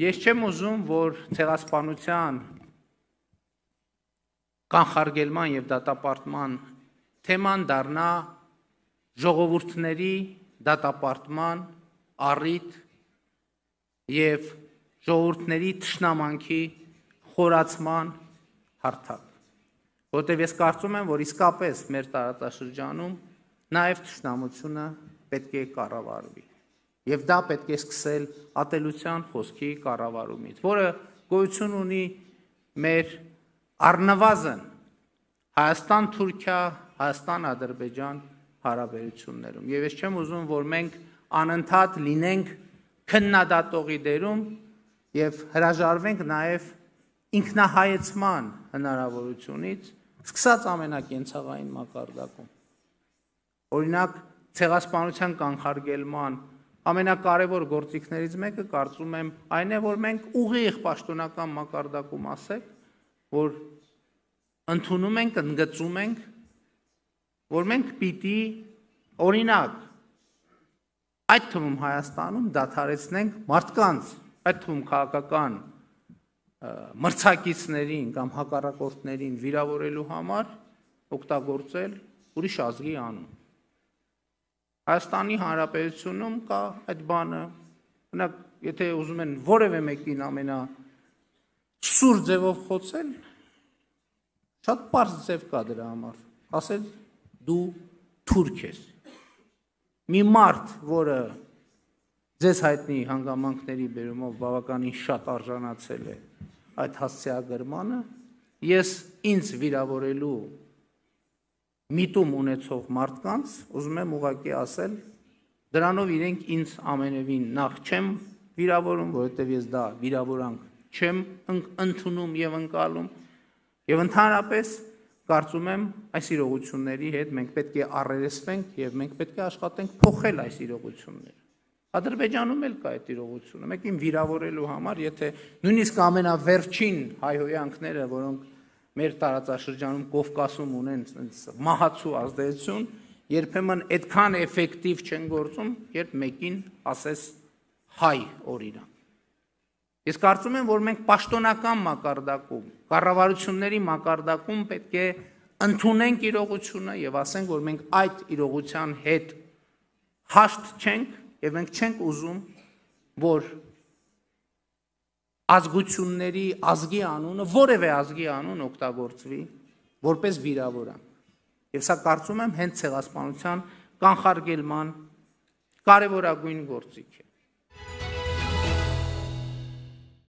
Ես չեմ ուզում, որ ցեղասպանության կանխարգելման եւ դատապարտման թեման դառնա ժողովուրդների դատապարտման առիթ եւ ժողովուրդների թշնամանքի խորացման հարթակ, որտեղ ես կարծում եմ, որ իսկապես մեր տարածաշրջանում նաեւ թշնամությունը պետք է կառավարվի եւ դա պետք է սկսել ատելության խոսքի կառավարումից, որը գոյություն ունի մեր առնվազն Հայաստան-Թուրքիա, Հայաստան-Ադրբեջան հարաբերություններում եւ ես չեմ ուզում, որ մենք անընդհատ լինենք քննադատողի դերում եւ հրաժարվենք նաեւ ինքնահայեցման հնարավորությունից, սկսած ամենակենցաղային մակարդակում։ Օրինակ, ցեղասպանության կանխարգելման ամենակարևոր գործիքներից մեկը կարծում եմ այն է, որ մենք ուղիղ պաշտոնական մակարդակում ասենք, որ ընդունում ենք, ընդգծում ենք, որ մենք պիտի օրինակ այդ թվում Հայաստանում դադարեցնենք մարդկանց, այդ թվում քաղաքական մրցակիցներին կամ հակառակորդներին վիրավորելու համար օգտագործել ուրիշ ազգի անուն։ Հայաստանի Հանրապետությունում կա այդ բանը, օրինակ, եթե ուզում են որևէ մեկին ամենասուր ձևով խոցել, շատ պարզ ձև կա դրա համար, ասել դու թուրք ես։ Մի մարդ, որը ձեզ հայտնի հանգամանքների բերումով բավականին շատ արժանացել է այդ հասցեագրմանը, ես ինձ վիրավորելու միտում ունեցող մարդկանց ուզում եմ ուղղակի ասել, դրանով իրենք ինձ ամենևին նախ չեմ վիրավորում, որովհետև ես դա վիրավորանք չեմ ընդունում եւ ընկալում, եւ ընդհանրապես կարծում եմ այս իրողությունների հետ մենք պետք է առերեսվենք եւ մենք պետք է աշխատենք փոխել այս իրողությունները։ Ադրբեջանում էլ կա այդ իրողությունը, մեկին վիրավորելու համար, եթե նույնիսկ ամենավերջին հայհոյանքները, որոնք մեր տարածաշրջանում Կովկասում ունեն մահացու ազդեցություն, երբեմն այդքան էֆեկտիվ չեն գործում, երբ մեկին ասես հայ օրինակ։ Ես կարծում եմ, որ մենք պաշտոնական մակարդակում, կառավարությունների մակարդակում պետք է ընդունենք իրողությունը եւ ասենք, որ մենք այդ իրողության հետ հաշտ չենք եւ մենք չենք ուզում, որ ազգությունների ազգի անունը, որևէ ազգի անուն օգտագործվի որպես վիրավորանք։ Եվ սա կարծում եմ հենց ցեղասպանության կանխարգելման կարևորագույն գործիք է։